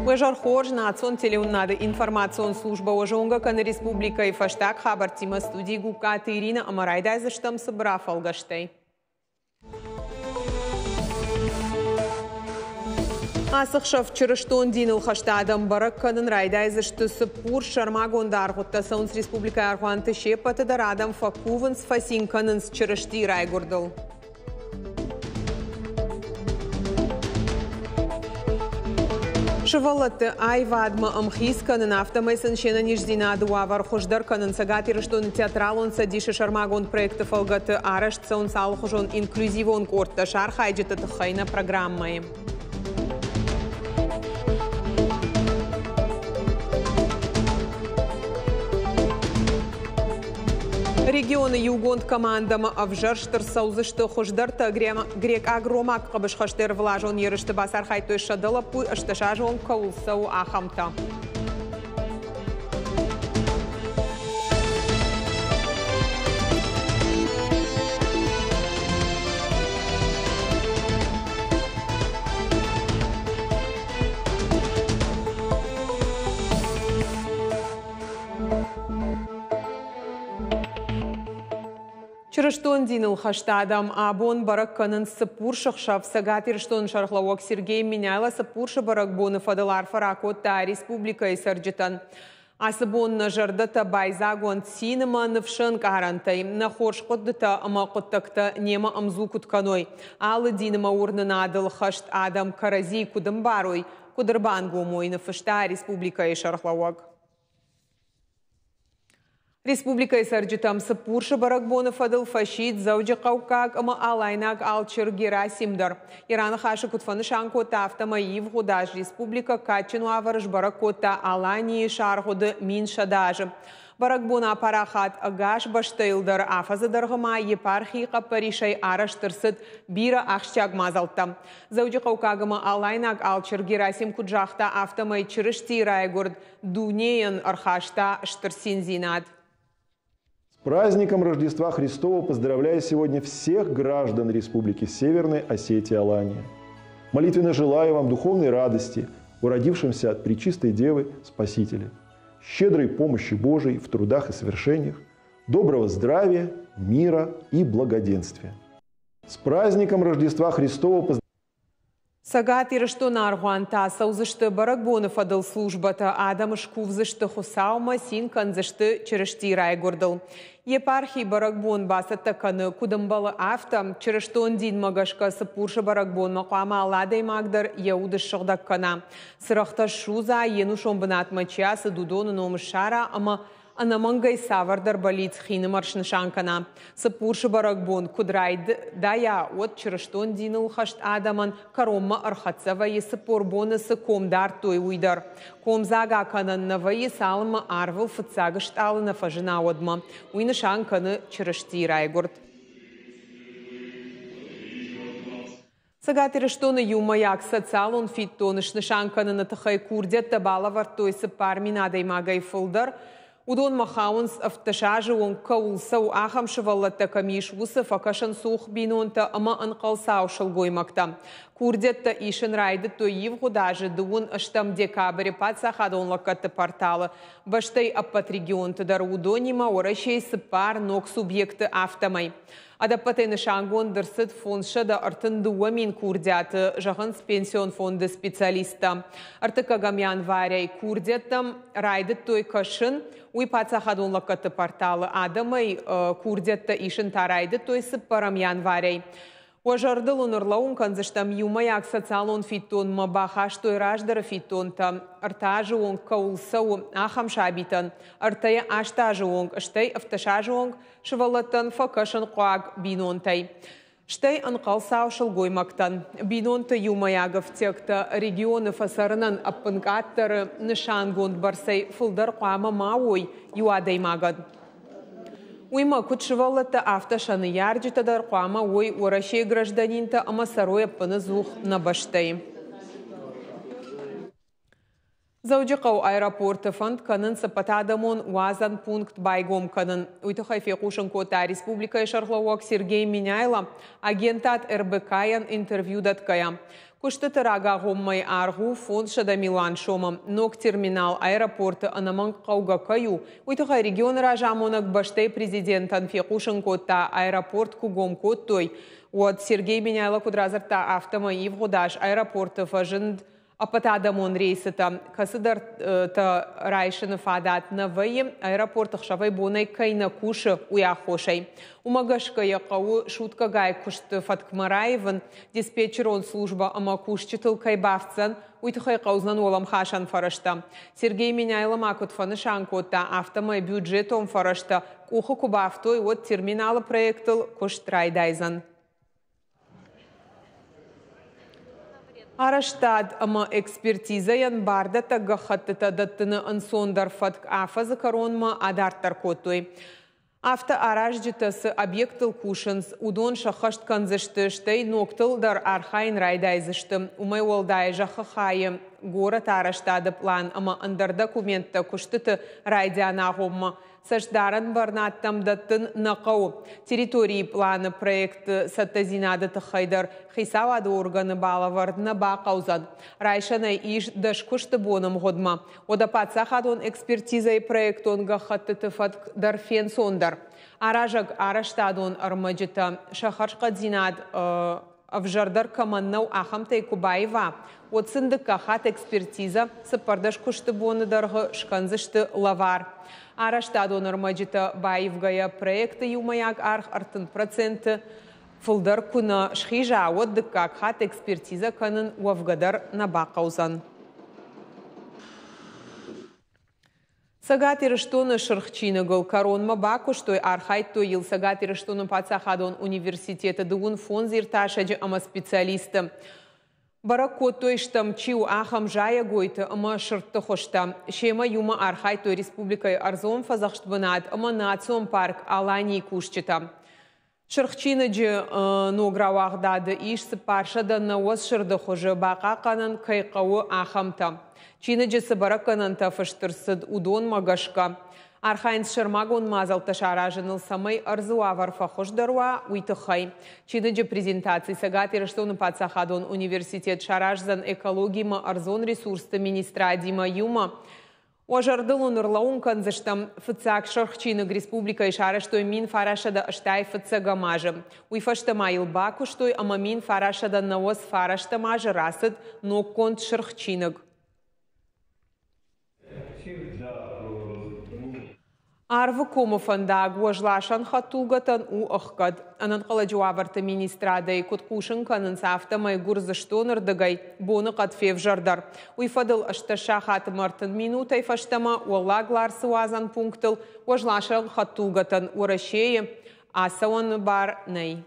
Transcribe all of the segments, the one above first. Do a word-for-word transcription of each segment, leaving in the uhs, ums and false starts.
Уӕ хорз национ телеуынынады информацион службӕ уӕ зонгӕ кӕны республикӕйы фӕстаг хабӕрттимӕ студийы Гугкаты Ирина ӕмӕ райдайдзыстӕм цыбыр афӕлгӕстӕй. Ацы хсӕв чырыстон диныл хӕст адӕм бӕрӕг кӕнын райдайдзысты цыппурс сӕрмагонд аргъуыдтӕ цӕуынц республикӕйы аргъуанты се ппӕты дӕр адӕм фӕкувынц, фӕцин кӕнынц Чырыстийы райгуырдыл. Сывӕллӕтты аивадмӕ ӕмхиц кӕнын, афтӕмӕй сын се нӕниздзинады уавӕр хуыздӕр кӕнын Цӕгат Ирыстоны театралон цӕдисы сӕрмагонд проекты фӕлгӕты арӕзт цӕуынц алыхуызон инклюзивон къордтӕ сӕ архайджыты тыххӕй нӕ программӕйы. Регионы иугонд командӕмӕ ӕвзӕрст ӕрцӕудзысты хуыздӕртӕ грекъаг-ромаг хъӕбысхӕсты ӕрвылазон ерысты бацархайдтой сӕдӕ лӕппуйы ӕстдӕс азы онг кӕуыл цӕуы, ахӕмтӕ. Чырыстон диныл хӕст адӕм абон бӕрӕг кӕнынц цыппурсы хсӕв. Цӕгат Ирыстоны сӕргълӕууӕг Сергей Меняйло цыппурсы бӕрӕгбоны фӕдыл арфӕ ракодта республикӕйы цӕрджытӕн. Ацы бон нӕ зӕрдӕтӕ байдзаг уӕнт цин ӕмӕ ныфсы ӕнкъарӕнтӕй, нӕ хорз хъуыдытӕ ӕмӕ хъуыддӕгтӕ немӕ ӕмдзу куыд кӕной, алы дин ӕмӕ уырнынадыл хӕст адӕм кӕрӕдзийы куыд ӕмбарой, куыд ӕрбангом уой, ныффыста республикӕйы сӕргълӕууӕг. Республикӕйы цӕрджытӕм цыппурсы бӕрӕгбоны фӕдыл фӕсидт Дзӕуджыхъӕуккаг ӕмӕ Алайнаг алчер Герасим дӕр. Йӕ раныхасы куыд фӕнысан кодта, афтӕмӕй ивгъуыд аз республикӕ кадджын уавӕры сбӕрӕг кодта Аланийы саргъуыды мин сӕдӕ азы. Бӕрӕгбон апарахат ӕгас бӕстӕйыл дӕр афӕдзы дӕргъы ма епархийы хъӕппӕрисӕй арӕзт ӕрцыд бирӕ ахсджиаг мадзӕлттӕ. Дзӕуджыхъӕуккаг ӕмӕ Алайнаг алчер Герасим куыд загъта, афтӕмӕй Чырыстийы райгуырд дунейӕн ӕрхаста стыр циндзинад. С праздником Рождества Христова поздравляю сегодня всех граждан Республики Северной Осетия-Алания. Молитвенно желаю вам духовной радости, уродившимся от Пречистой Девы Спасителя, щедрой помощи Божией в трудах и свершениях, доброго здравия, мира и благоденствия. С праздником Рождества Христова поздравляю! Цӕгат Ирыстоны аргъуантӕ цӕудзысты бӕрӕгбоны фӕдыл службӕтӕ, адӕм скувдзысты Хуыцаумӕ, цин кӕндзысты Чырыстийы райгуырдыл. Епархи бӕрӕгбон бацӕттӕ кӕны, куыд ӕмбӕлы, афтӕ. Чырыстон динмӕ гӕсгӕ цыппурсы бӕрӕгбонмӕ хъуамӕ алы адӕймаг дӕр йӕ уд ссыгъдӕг кӕна. Цырӕгътӕ ссудза, йе нусон бынатмӕ чи ацыд, уыдоны ном ссара ӕмӕ ӕнӕмӕнгӕй цавӕрдӕр бӕллиц хинымӕр снысан кӕна. Цыппурсы бӕрӕгбон куыд райдайа, уӕд чырыстон диныл хӕст адӕмӕн кӕронмӕ ӕрхӕццӕ вӕййы цыппор боны цы ком дардтой, уый дӕр. Комдзаг акӕнӕн нӕ вӕййы, цалынмӕ арвыл фыццаг стъалы нӕ фӕзына, уӕдмӕ. Уый нысан кӕны Чырыстийы райгуырд. Цӕгат Ирыстоны иумӕйаг социалон фиддон снысан кӕныны тыххӕй курдиӕттӕ балӕвӕрдтой цыппар мин адӕймагӕй фылдӕр. Уыдонмӕ хауынц ӕвддӕс азы онг кӕуыл цӕуы, ахӕм сывӕллӕттӕ кӕм ис, уыцы фӕкӕсынцух бинонтӕ ӕмӕ ӕнхъӕлцау сылгоймӕгтӕ. Курдиӕттӕ исын райдыдтой ивгъуыд азы дыууын ӕстӕм декабры паддзахадон лӕггӕдты порталы. Бӕстӕйы ӕппӕт регионты дӕр уыдонимӕ Уӕрӕсейы цыппар ног субъекты афтӕмӕй. Ӕдӕппӕтӕй нысангонд ӕрцыд фондзсӕдӕ ӕртын дыууӕ мин курдиаты, зӕгъынц пенсион фонды специалисттӕ. Ӕртыккӕгӕм январӕй курдиӕттӕм райдыдтой кӕсын, уый паддзахадон лӕггӕдты порталы адӕмӕй курдиӕттӕ исын та райдыдтой цыппӕрӕм январӕй. Уӕ зӕрдыл уын ӕрлӕууын кӕндзыстӕм иумӕйаг социалон фиддонмӕ бахастой раздӕры фиддонтӕ ӕртӕ азы онг кӕуыл цӕуы, ахӕм сабитӕн, ӕртӕйӕ аст азы онг, стӕй ӕвддӕс азы онг сывӕллӕттӕн фӕкӕсынхъуаг бинонтӕй, стӕй ӕнхъӕлцау сылгоймӕгтӕн. Бинонты иумӕйаг ӕфтиӕгтӕ регионы фӕцӕрынӕн ӕппынкъаддӕры нысангонд бӕрцӕй фылдӕр хъуамӕ ма уой иу адӕймагӕн. Уыимӕ куыд сывӕллӕттӕ, афтӕ сӕ ныййарджытӕ дӕр хъуамӕ уой Уӕрӕсейы гражданинтӕ ӕмӕ цӕрой ӕппыныдзух нӕ бӕстӕйы. Дзӕуджыхъӕуы аэропорты фӕнд кӕнынц ӕппӕтадӕмон уадзӕн пункт байгом кӕнын. Уый тыххӕй фехъусын кодта республикӕйы сӕргълӕууӕг Сергей Меняйло агентад эр бэ ка-йӕн интервью дӕтгӕйӕ. Куыстыты рагагъоммӕйы аргъ у фондзсӕдӕ милуан сомы. Ног терминал аэропорты ӕнӕмӕнг хъӕугӕ кӕй у, уый тыххӕй регионы разамонӕг бӕстӕйы президентӕн фехъусын кодта, аэропорт куы гом кодтой, уӕд. Сергей Меняйло куыд радзырдта, афтӕмӕй ивгъуыд аз аэропорты фӕзынд ӕппӕтадӕмон рейсытӕ, кӕцыдӕртӕ райсыны фадат нӕ вӕййы, аэропорт ӕхсӕвӕй-бонӕй кӕй нӕ кусы, уый аххосӕй. Уымӕ гӕсгӕ йӕ хъӕуы суткӕгай куысты фӕткмӕ раивын, диспетчерон службӕ ӕмӕ кусджытыл кӕй бафтдзӕн, уый тыххӕй хъӕудзӕн уӕлӕмхасӕн фӕрӕзтӕ. Сергей Меняйло ма куыд фӕнысан кодта, афтӕмӕй бюджетон фӕрӕзтӕ къухы куы бафтой, уӕд терминалы проектыл куыст райдайдзӕн. Арӕзтад ӕмӕ экспертизӕйӕн бардӕттӕг гӕххӕттытӕ дӕттыны ӕнцондӕр фӕтк афӕдзы кӕронмӕ адарддӕр кодтой. Афтӕ аразджытӕ цы объекттыл кусынц, уыдон сӕххӕст кӕндзысты, стӕй ногтыл дӕр архайын райдайдзысты. Уымӕй уӕлдай зӕххы хайы горӕты арӕзтады пълан ӕмӕ ӕндӕр документтӕ куыстыты райдианы агъоммӕ цӕстдарӕн бӕрнадтӕм дӕттын нӕ хъӕуы. Территорийы пъланы проекты цӕттӕдзинады тыххӕй дӕр хицауады органы балӕвӕрд нӕ бахъӕудзӕн. Райсӕнӕй ис дӕс куысты боны мгъуыдмӕ. Уӕдӕ паддзахадон экспертизӕйы проектон гӕххӕттыты фӕтк дӕр фенцондӕр. Аразӕг арӕзтадон ӕрмӕджытӕ сӕ хӕрзхъӕддзинад ӕвзӕрдӕр кӕмӕн нӕу, ахӕмтӕй куы баива, уӕд сын дыккаг хатт экспертизӕ цыппӕрдӕс куысты боны дӕргъы скӕндзысты лӕвар. Арӕзтадон ӕрмӕджытӕ баивгӕйӕ проекты иумӕйаг аргъ ӕртын проценты фылдӕр куы нӕ схиза, уӕд дыккаг хатт экспертизӕ кӕнын уӕвгӕ дӕр нӕ бахъӕудзӕн. Цӕгат Ирыстоны Сырх чиныгыл кӕронмӕ бакуыстой, архайдтой йыл Цӕгат Ирыстоны паддзахадон университеты дыууын фондз иртасӕджы ӕмӕ специалисты. Бӕрӕг кодтой стӕм чи у, ахӕм зайӕгойты ӕмӕ сырдты хуызтӕ. Семӕ иумӕ архайдтой республикӕйы ӕрдзон фӕдзӕхст бынат ӕмӕ национ парк Аланийы кусджытӕ. Сырх чиныджы ног рауагъдады ис цыппарсӕдӕ нӕуӕдз сырды хуызы бахъахъхъӕнын кӕй хъӕуы, ахӕмтӕ. Чиныджы цы бӕрӕггӕнӕнтӕ фыст ӕрцыд, уыдонмӕ гӕсгӕ архайынц сӕрмагонд мадзӕлттӕ саразыныл, цӕмӕй ӕрдзы уавӕр фӕхуыздӕр уа, уый тыххӕй. Чиныджы презентаци Цӕгат Ирыстоны паддзахадон университет сараздзӕн экологимӕ ӕрдзон ресурсты министрадимӕ иумӕ. Уӕ зӕрдыл уын ӕрлӕууын кӕндзыстӕм, фыццаг Сырх чиныг республикӕйы сарӕзтой мин фарӕсӕдӕ ӕстай фыццӕгӕм азы. Уый фӕстӕ ма йыл бакуыстой ӕмӕ мин фарӕсӕдӕ нӕуӕдз фарӕстӕм азы рацыд ноггонд Сырх чиныг. Арвы комы фӕндаг уӕзласӕн хӕдтулгӕтӕн у ӕхгӕд. Ӕнӕнхъӕлӕджы уавӕрты министрадӕй куыд хъусын кӕнынц, афтӕмӕй Гуырдзыстоны рдыгӕй боныхъӕд февзӕрдӕр. Уый фӕдыл ӕстдӕс сахаты ӕртын минутӕй фӕстӕмӕ Уӕллаг Ларсы уадзӕн пунктыл уӕзласӕн хӕдтулгӕтӕн Уӕрӕсейы ацӕуӕны бар нӕй.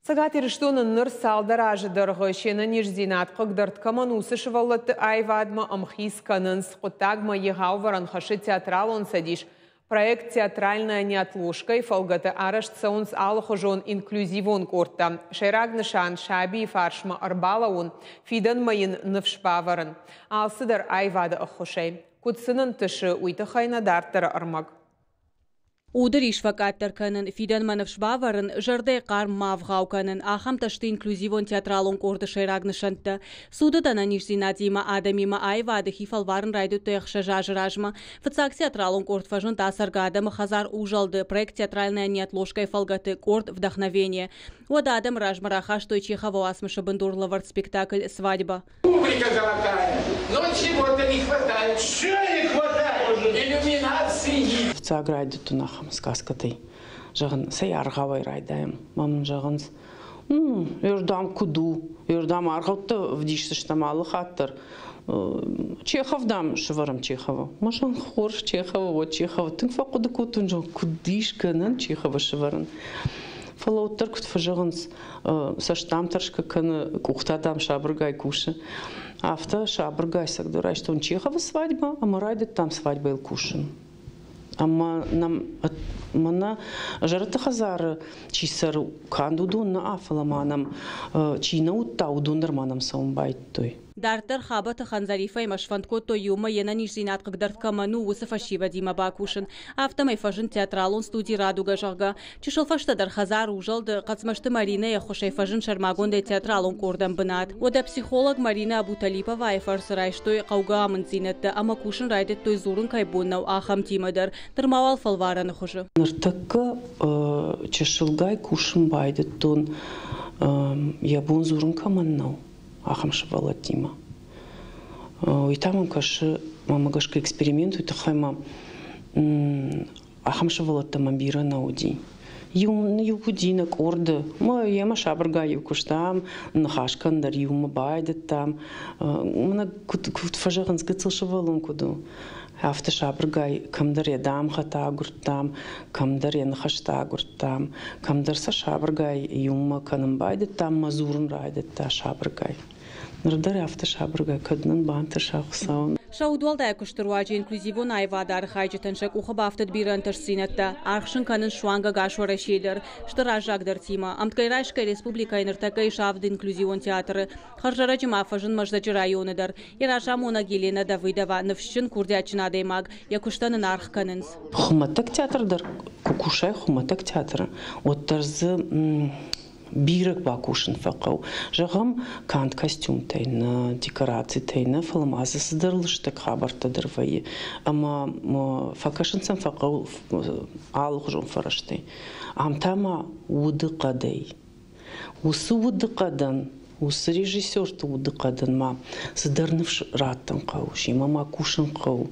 Цӕгат Ирыстоны ныр цалдӕр азы дӕргъы се нӕниздзинад хъыгдард кӕмӕн, уыцы сывӕллӕтты аивадмӕ ӕмхиц кӕнынц. Хъуыддагмӕ егъау ӕвӕрӕн хӕссы театралон цӕдис. Проект «Театральная неотложка»-йы фӕлгӕты арӕзт цӕуынц алыхуызон инклюзивон къордтӕ. Сӕйраг нысан – сабийы фарсмӕ ӕрбалӕууын, фидӕнмӕ йын ныфс бавӕрын. Алцыдӕр аивады ӕххуысӕй. Куыд сын ӕнтысы, уый тыххӕй нӕ дарддӕры ӕрмӕг. Уды рис фӕкъаддӕр кӕнын, фидӕнмӕ ныфс бавӕрын, зӕрдӕйы хъарм ма ӕвгъау кӕнын – ахӕмтӕ сты инклюзивон театралон къорды сӕйраг нысӕнттӕ. Цудыд ӕнӕниздзинадимӕ адӕмимӕ аивады хи фӕлварын райдыдтой ӕхсӕз азы размӕ. Фыццаг театралон къорд фӕзынд ацӕргӕ адӕмы хӕдзар «Узӕлд»-ы проект «Театральная неотложка»-йы фӕлгӕты къорд «Вдохновение». Уӕд адӕмы размӕ рахастой Чеховы уацмысы бындурлӕвӕрд спектакль «Свадьба». Публика золотая, но чего-то не хватает. Чего не хватает? Иллюминации. Фыццаг райдыдтон ахӕм сказкӕтӕй. Зӕгъын, цӕй аргъауӕй райдайӕм. Мӕ мын зӕгъынц, ӕрдӕм куыд у, ӕрдӕм аргъӕуттӕ вдисдзыстӕм алы хатт дӕр. Чехов, дам, сӕвӕрӕм Чеховы. Мӕ зӕгъын, хорз, Чеховы, уӕд Чеховы. Тынг фӕхъуыды кодтон, зӕгъын, куыд ис гӕнӕн Чеховы сӕвӕрын. Фӕлӕ уӕддӕр куыд фӕзӕгъынц, цӕст дам тӕрсгӕ кӕны, къухтӕ дам сабыргай кусы. Афтӕ сабыргай цӕгдӕр райстон Чеховы свадьба ӕмӕ райдыдтам свадьбайыл кусын. Ӕмӕ нӕм мӕнӕ зӕрӕдты хӕдзары чи цӕры, канд уыдон нӕ, фӕлӕ ма нӕм чи нӕ уыдта, уыдон дӕр ма нӕм цӕуын байдыдтой. Дарддӕр Хабӕты Хандзарифӕимӕ сфӕнд кодтой иумӕ йе нӕниздзинад хъыгдард кӕмӕн у, уыцы фӕсивӕдимӕ бакусын. Афтӕмӕй фӕзынд театралон студи «Радуга», зӕгъгӕ. Чысыл фӕстӕдӕр хӕдзар «Узӕлд-ы» Хъӕцмӕзты Маринӕйы ӕххуысӕй фӕзынд сӕрмагондӕй театралон къордӕн бынат. Уӕдӕ психолог Марина Абуталиповайы фӕрцы райстой хъӕугӕ амынддзинӕдтӕ ӕмӕ кусын райдыдтой, дзурын кӕй бон нӕу, ахӕмтимӕ дӕр. Нырма уал фӕлварӕны хуызы. Ныртӕккӕ чысылгай кусын байдыдтон, йӕ бон дзурын кӕмӕн нӕу, ахӕм сывӕллӕттимӕ. Уый та мӕм кӕсы, мӕнмӕ гӕсгӕ эксперимент, уый тыххӕй ма ахӕм сывӕллӕттӕ мӕм бирӕ нӕ уыди. Иу иу уыди нӕ къорды, мӕ йемӕ сабыргай-иу куыстам, ныхас кӕнын дӕр иумӕ байдыдтам. Мӕнӕ куыд, куыд фӕзӕгъынц, гыццыл сывӕллон куыд у, афтӕ сабыргай кӕмдӕр йӕ дамгъӕтӕ агуырдтам, кӕмдӕр йӕ ныхӕстӕ агуырдтам, кӕмдӕр сӕ сабыргай иумӕ кӕнын байдыдтам, мӕ дзурын райдыдта сабыргай. Ныр дӕр афтӕ сабыргай, кӕд нын бантыса Хуыцауӕн. Сӕ удуӕлдай куысты руаджы инклюзивон аивады архайджытӕн сӕ къухы бафтыд бирӕ ӕнтыстдзинӕдтӕ. Аргъ сын кӕнынц суанг ӕгас Уӕрӕсейы дӕр. Сты раззагдӕртимӕ. Ӕмткӕй райсгӕ республикӕйы ныртӕккӕ ис авд инклюзивон театры. Хӕрзӕрӕджы ма фӕзынд Мӕздӕджы районы дӕр. Йӕ разамонӕг Елена Давыдова ныфсджын, курдиатджын адӕймаг. Йӕ куыстӕн ын аргъ кӕнынц. Хуымӕтӕг театр дӕр куы кусай, хуымӕтӕг театры, уӕддӕр дзы бирӕ бакусын фӕхъӕуы. Зӕгъӕм, канд костюмтӕй нӕ, декорацитӕй нӕ, фӕлӕ ма дзы цыдӕр лыстӕг хабӕрттӕ дӕр вӕййы. Ӕмӕ фӕкӕсын сӕм фӕхъӕуы алыхуызон фӕрӕзтӕй. Ам та ма удыхъӕдӕй. Уыцы удыхъӕдӕн, уыцы режиссерты удыхъӕдӕн ма цыдӕр ныфс раттын хъӕуы, семӕ ма кусын хъӕуы.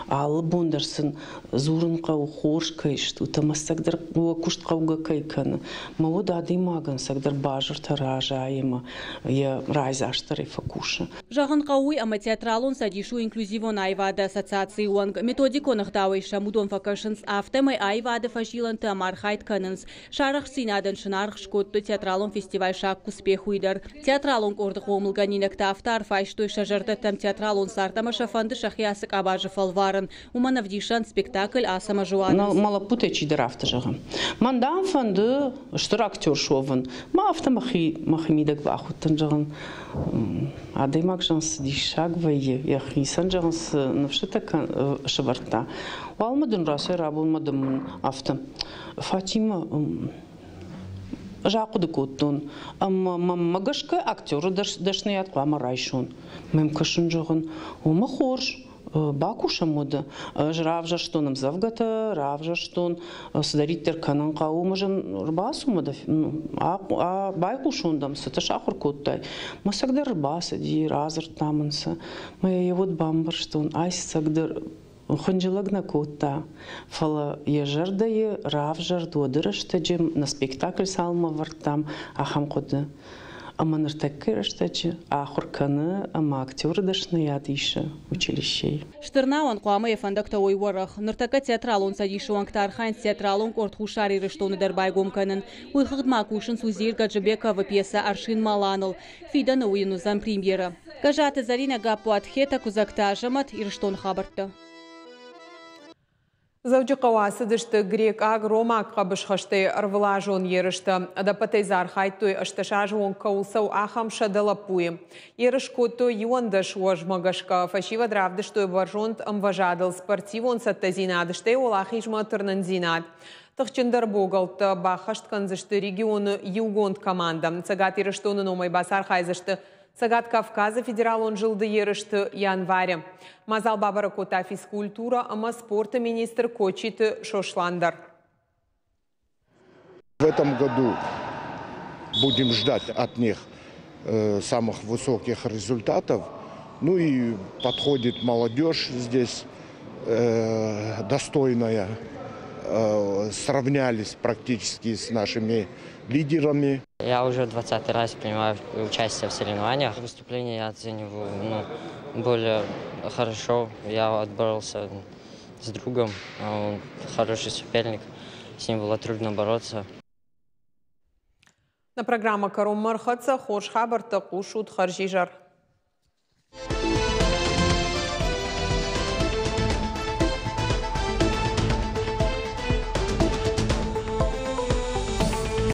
Алы бон дӕр сын дзурын хъӕуы, хорз кӕй стут ӕмӕ ӕцӕгдӕр уӕ куыст хъӕугӕ кӕй кӕны. Мӕ уӕд адӕймагӕн ӕцӕгдӕр базыртӕ разайы ӕмӕ йӕ райдзастдӕрӕй фӕкусы. Зӕгъын хъӕуы уый, ӕмӕ театралон цӕдис у инклюзивон аивады ассоциацийы уӕнг. Методикон ӕгъдауӕй сӕм уыдон фӕкӕсынц, афтӕмӕй аивады фӕзилӕнты ӕмархайд кӕнынц. Сӕ арӕхстдзинадӕн сын аргъ скодтой театралон фестиваль «Шаг к успеху»-йы дӕр. Театралон къорды хъомылгӕнинӕгтӕ афтӕ арф айстой сӕ зӕрдӕтӕм театралон цард ӕмӕ сӕ фӕнды сӕхи ацы къабазы фӕлварын. Уымӕн ӕвдисӕн спектакль «Ацӕмӕзы уадындз». Мӕ лӕппутӕй чидӕр афтӕ зӕгъы: мӕн, дам, фӕнды стыр актер суӕвын. Мӕ афтӕ мӕхи, мӕхи мидӕг бахудтӕн, зӕгъын, адӕймаг, зӕгъын, цы диссаг вӕййы, йӕхицӕн, зӕгъын, цы ныфсытӕ сӕвӕрдта. Уалмӕ дын рацӕй рабонмӕ дын мын афтӕ: Фатимӕ, ӕз ахъуыды кодтон, ӕмӕ мӕнмӕ гӕсгӕ актеры дӕсныйад хъуамӕ райсон. Мӕм кӕсын, зӕгъын, уымӕ хорз, бакусӕм уӕдӕ. Ӕз равзӕрстон ӕмдзӕвгӕтӕ, равзӕрстон, цыдӕриддӕр кӕнын хъӕуы, ӕмӕ зын ӕрбацу мӕ байхъусон дӕм, цытӕ сахуыр кодтай. Мӕ цӕгдӕр ӕрбацыди, радзырдта мын сӕ. Мӕ йӕ уӕд бамбӕрстон, ай цӕгдӕр хынджылӕг нӕ кодта, фӕлӕ йӕ зӕрдӕйы равзӕрд уӕды рӕстӕджы, нӕ спектакль цалынмӕ ӕвӕрдтам, ахӕм хъуыды. Ӕмӕ ныртӕккӕйы рӕстӕджы ахуыр кӕны ӕмӕ актеры дӕсныйад исы училищейы. Стыр науӕн хъуамӕ йӕ фӕндӕгтӕ уой уӕрӕх. Ныртӕккӕ театралон цӕдисы уӕнгтӕ архайынц театралон къорд Хуссар Ирыстоны дӕр байгом кӕнын. Уый хыгъд ма кусынц Узеир Гаджибековы пьесӕ «Аршин Малан»-ыл. Фидӕны уый йын уыдзӕн премьерӕ. Гӕззаты Зӕринӕ, Гаппуат Хета, Куыдзӕгты Азӕмӕт, Ирыстоны хабӕрттӕ. Дзӕуджыхъӕуы ацыдысты грекъаг-ромаг хъӕбысхӕстӕй ӕрвылазон ерыстӕ. Ӕдӕппӕтӕй дзы архайдтой, ӕстдӕс азы онг кӕуыл цӕуы, ахӕм сӕдӕ лӕппуйы. Ерыс кодтой иуӕндӕс уӕзмӕ гӕсгӕ. Фӕсивӕд равдыстой бӕрзонд ӕмвӕзадыл спортивон цӕттӕдзинад, стӕй уӕлахизмӕ тырнындзинад. Тыхджындӕр богӕлттӕ баххӕст кӕндзысты регионы иугонд командӕ. Цӕгат Ирыстоны номӕй бацархайдзысты Цӕгат Кавказы федералон зылды ерысты январы. Мадзал бабӕрӕг кодта физкультура ӕмӕ спорты министр Кочиты Сослан дӕр. В этом году будем ждать от них э, самых высоких результатов. Ну и подходит молодежь здесь э, достойная. Э, сравнялись практически с нашими лидерами. Я уже двадцатый раз принимаю участие в соревнованиях. Выступление я оцениваю, ну, более хорошо. Я отборолся с другом, он хороший соперник, с ним было трудно бороться. Нӕ программӕ кӕронмӕ ӕрхӕццӕ, хорз хабӕрттӕ хъусут, хӕрзизӕр.